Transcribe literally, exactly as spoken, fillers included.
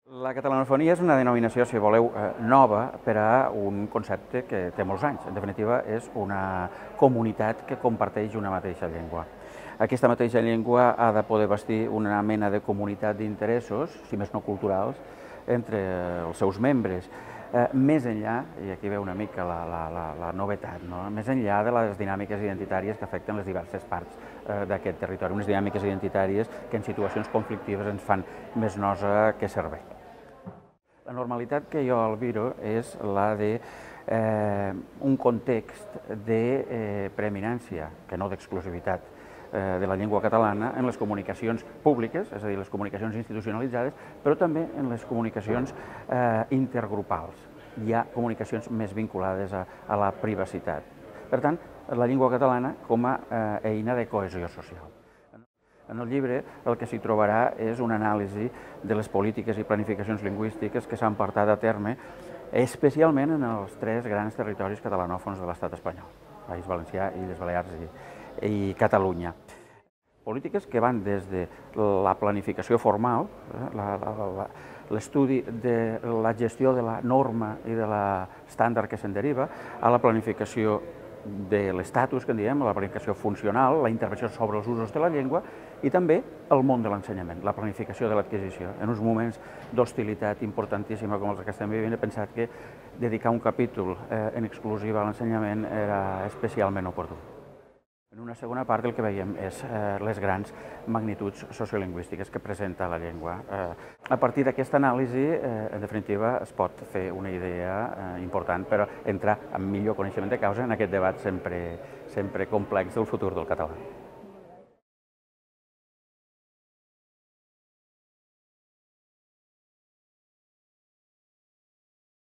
La catalanofonia és una denominació, si voleu, nova per a un concepte que té molts anys. En definitiva, és una comunitat que comparteix una mateixa llengua. Aquesta mateixa llengua ha de poder vestir una mena de comunitat d'interessos, si més no culturals, entre els seus membres. Més enllà, i aquí ve una mica la, la, la, la novetat, no? Més enllà de les dinàmiques identitàries que afecten les diverses parts d'aquest territori, unes dinàmiques identitàries que en situacions conflictives ens fan més nosa que servei. La normalitat que jo albiro és la d'un eh, context de eh, preeminència, que no d'exclusivitat, eh, de la llengua catalana en les comunicacions públiques, és a dir, les comunicacions institucionalitzades, però també en les comunicacions eh, intergrupals. Hi ha comunicacions més vinculades a, a la privacitat. Per tant, la llengua catalana com a eh, eina de cohesió social. En el llibre el que s'hi trobarà és una anàlisi de les polítiques i planificacions lingüístiques que s'han portat a terme especialment en els tres grans territoris catalanòfons de l'estat espanyol, País Valencià, Illes Balears i, i Catalunya. Polítiques que van des de la planificació formal, l'estudi de la gestió de la norma i de l'estàndard que se'n deriva, a la planificació de l'estatus, que en diem, la planificació funcional, la intervenció sobre els usos de la llengua i també el món de l'ensenyament, la planificació de l'adquisició. En uns moments d'hostilitat importantíssima com els que estem vivint, he pensat que dedicar un capítol eh, en exclusiva a l'ensenyament era especialment oportú. En una segona part el que veiem és eh, les grans magnituds sociolingüístiques que presenta la llengua. Eh, a partir d'aquesta anàlisi, eh, en definitiva, es pot fer una idea eh, important per entrar amb millor coneixement de causa en aquest debat sempre, sempre complex del futur del català.